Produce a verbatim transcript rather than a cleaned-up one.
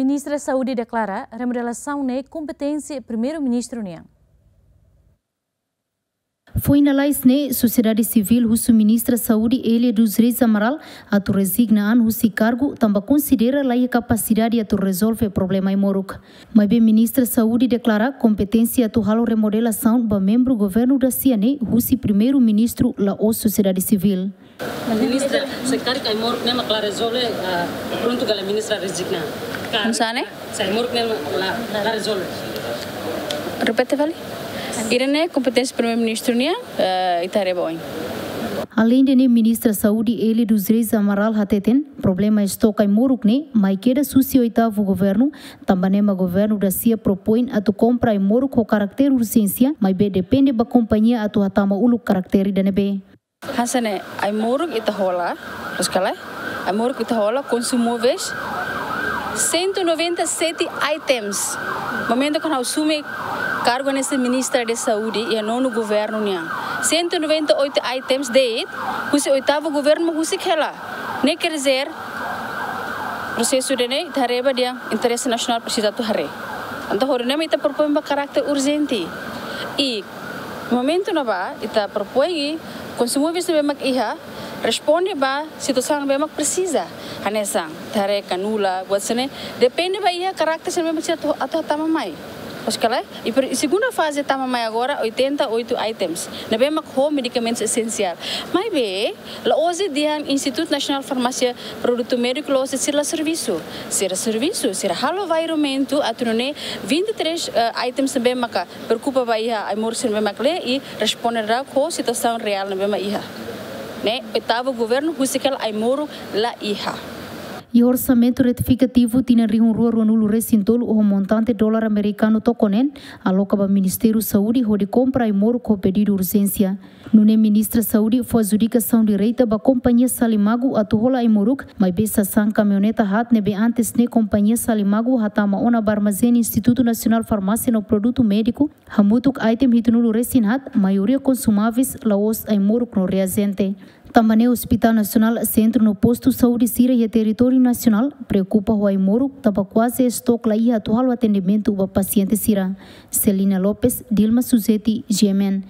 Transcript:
Ministra Saúde deklara remodelasaun ne'e kompeténsia Primeiru-Ministru nian. Foin lalais ne'e, sosiedade sivíl husu Ministra Saúde Elia dos Reis Amaral atu rezigna an husi kargu, tanba konsidera laiha kapasidade atu rezolve problema ai-moruk. Maibé Ministra Saúde deklara kompeténsia atu halo remodelasaun ba membru governu dasia ne'e husi Primeiru-Ministru, la'ós sosiedade sivíl. Ministra, se karik ai-moruk ne'e mak la rezolve, ah, prontu ka lae ministra rezigna? Karik, Nusane? Se ai-moruk ne'e la, la rezolve. Repete fali. Ida-ne'e kompeténsia Primeiru-Ministru nian, eh, ita haree ba oin. Aleinde ne'e, Ministra Saúde Elia dos Reis Amaral hateten, problema estok ai-moruk ne'e mai kedas husi oitavu governu, tanba ne'e mak governu dasia propoin atu kompra ai-moruk ho karakter urjénsia, maibé depende ba kompañia atu hatama uluk karakter ida-ne'ebé. Hanesan ne'e, ai-moruk ita hola, loos ka lae? Ai-moruk ita hola, Consumóveis, cento e noventa e sete items. Momentu kuandu ha'u asume kargu hanesan Ministra de Saúde iha nonu governu nian, cento e noventa e oito items de'it, husi oitavu governu mak husik hela. Ne'e quer dizer, prosesu ida-ne'e ita haree ba dehan interese nasionál presiza atu haree. Entaun, hodi nune'e mak ita propoin ba karakter urjente. I momentu ne'ebá ita propoin, i Consumóveis ne'ebé mak iha responde ba situasaun ne'ebé mak presiza. Hanesan, ita haree kanula, buat sira-ne'e, depende ba iha karakter sira-ne'ebé mak presiza atu, atu tama mai. Loos ka lae? I per, i segunda faze tama mai agora oitenta e oito items. Ne'ebé mak ho medikamentus esensiál. Maibé, la'ós dehan Instituto Nacional Farmácia Produto Médico la'ós sira la servisu. Sira servisu, sira halo varrimentu atu nune'e vinte e três, eh, items ne'ebé maka preokupa ba iha ai-moruk sira ne'ebé mak laiha i responde daudaun ho situasaun reál ne'ebé mak iha. Ne'e, oitavu governu husik hela ai-moruk la iha. Iha orsamentu retifikativu tinan rihun rua ruanulu resin tolu ho montante dolar amerikanu toko neen, aloka ba Ministériu Saúde hodi kompra ai-moruk ho pedidu urjénsia. Nune'e Ministra Saúde fó adjudikasaun direta ba kompañia Salimagu atu hola ai-moruk, maibé sasán kamioneta haat ne'ebé antes ne'e kompañia Salimagu hatama ona ba armazén Instituto Nacional Farmácia no Produto Médico, hamutuk item hitunulu resin haat, maioria Consumóveis, la'ós ai-moruk no reajente. Tanba ne'e Hospital Nasionál, sentru no postu saúde sira iha territóriu nasionál preokupa ho ai-moruk, tanba kuaze estok la iha atu halo atendimentu ba pasiente sira. Celina Lopes, Dilma Suzeti, G M N.